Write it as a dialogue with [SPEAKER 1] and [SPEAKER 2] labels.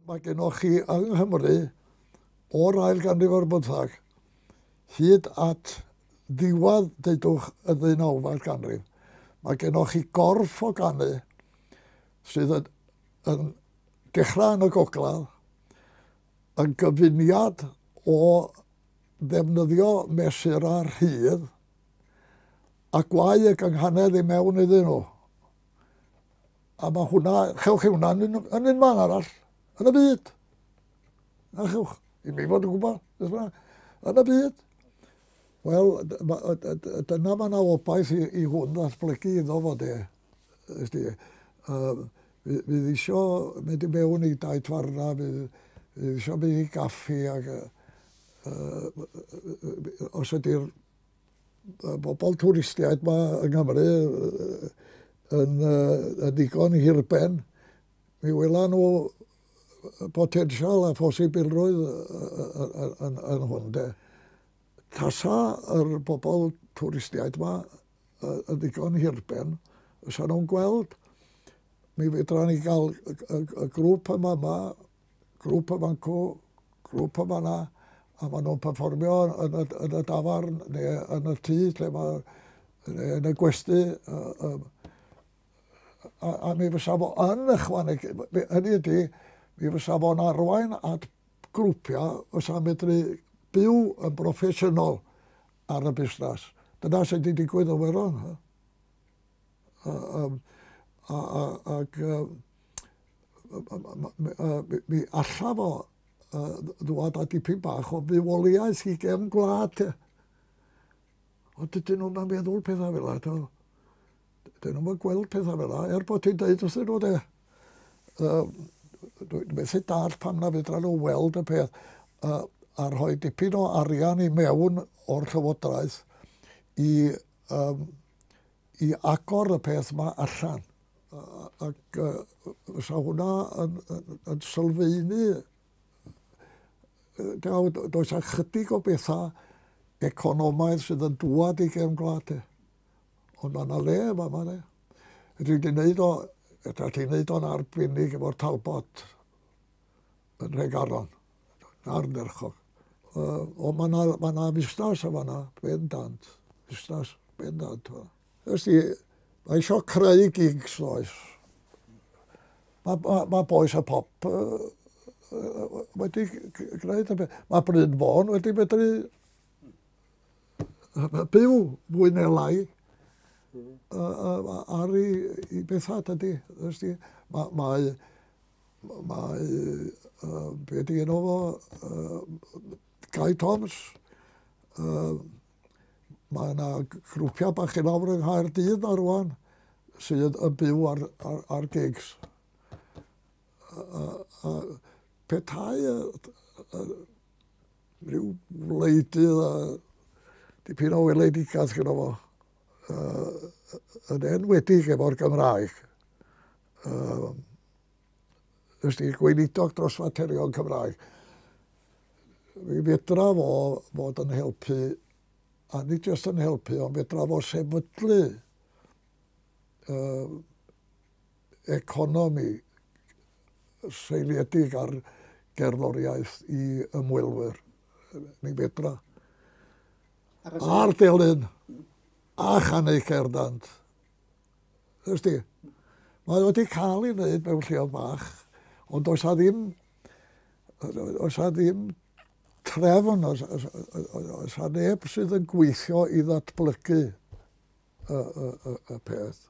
[SPEAKER 1] Mae gennych chi yng Nghymru o'r ail ganrif ar bymthag hyd at ddiwedd, deudwch, y ddeunawfed ganrif. Mae gennych chi gorff o ganu sydd yn dechrau yn y gogledd, yn gyfuniad o ddefnyddio mesurau rhydd a gwau y gynghanedd i mewn iddyn nhw. A mae hwnna, chewch chi hwnna yn un man arall, yn y byd. Na chewch, i mi fod yn gwybod, beth bynnag, yn y byd. Wel, dyna mae yna obaith i hwn ddatblygu iddo fo de. Ysdi, fydd isio mynd i mewn i dai tafarna, fydd isio mynd i gaffi ac os ydy'r bobl twristiaid ma yng Nghymru yn ddigon hirben, mi wela nhw potensial a phosibilrwydd yn hwn de. Tasa yr bobl twristiaid ma yn ddigon hirben, fysa nhw'n gweld, mi fedra ni gael y grŵp yma, grŵp yma'n cw, grŵp yma na, a maen nhw'n perfformio yn y dafarn neu yn y tŷ lle mae, neu yn y gwesty. A mi fysa fo yn ychwanegu, hynny ydy, mi fysa fo'n arwain at grwpiau fysa'n medru byw yn broffesiynol ar y busnes. Dyna sydd wedi digwydd yn Werddon. Ac mi alla fo ddwad â dipyn bach o fywoliaeth i gefn gwlad. Ond dydyn nhw'n meddwl pethau fel yna. Dydyn nhw'n gweld pethau fel yna, er bod ti'n deud wrthyn nhw de. Dwi'n methu dallt pam na fedra nhw weld y peth a rhoi dipyn o arian i mewn o'r llywodraeth i agor y peth yma allan. Ac fysa hwnna yn sylfaenu. Does a chydig o bethau economaidd sydd yn dŵad i gefn gwlad. Ond mae yna le yma, yma de. Dwi wedi gwneud o, ydych chi'n gwneud o'n arbennig efo'r Talbot yn Nhregaron, ardderchog. Ond mae yna fusnes yma yna, bendant, busnes bendant. Ysdi, mae eisiau creu gigs, does. Mae Bois y Pop wedi gwneud y beth. Mae Bryn Fôn wedi medru byw fwy neu lai ar i bethau, dydy. Mae, be di enw fo, Guy Thomas, mae yna grwpiau bach i lawr yng Nghaerdydd na rwan sydd yn byw ar gigs. Petai rhyw wleidydd a dipyn o weledigaeth gyda fo, yn enwedig efo'r Gymraeg. Ysdi, gweinidog dros faterion Cymraeg. Mi fedra fo fod yn helpu, a nid jyst yn helpu, ond fedra fo sefydlu economi seiliedig ar gerddoriaeth i ymwelwyr. Mi fedra. A'r delyn, a chanu cerddant. Ysdi, mae wedi cael ei wneud mewn lleoedd bach, ond oes a ddim trefn, oes a neb sydd yn gweithio i ddatblygu y peth.